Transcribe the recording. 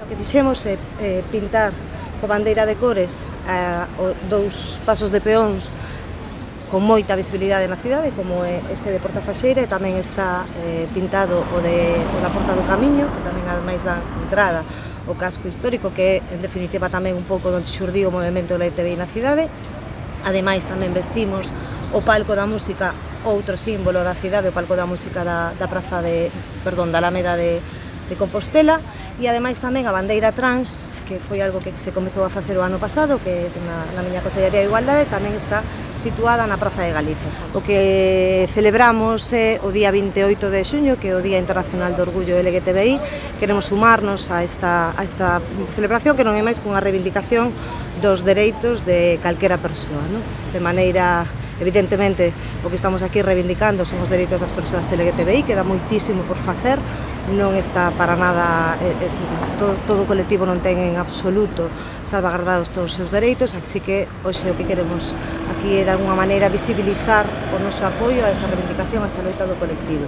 O que fixemos é pintar co bandeira de cores dous pasos de peóns con moita visibilidade na cidade, como é este de Porta Faxeira, e tamén está pintado o da Porta do Camiño, que tamén ademais dá entrada o casco histórico, que é en definitiva tamén un pouco onde xurdiu o movimento LGTBI na cidade. Ademais tamén vestimos o palco da música, outro símbolo da cidade, o palco da música da Alameda de Compostela, e ademais tamén a bandeira trans, que foi algo que se comezou a facer o ano pasado, que na miña Concellería de Igualdade tamén está situada na Praza de Galicia. O que celebramos é o día 28 de xuño, que é o Día Internacional do Orgullo LGTBI. Queremos sumarnos a esta celebración, que non é máis que unha reivindicación dos dereitos de calquera persoa, non? De maneira, evidentemente, o que estamos aquí reivindicando son os dereitos das persoas LGTBI, que dá moitísimo por facer, non está para nada, todo o colectivo non ten en absoluto salvagardados todos os seus dereitos, así que hoxe o que queremos aquí é de alguna maneira visibilizar o noso apoio a esa reivindicación, a esa loita do colectivo.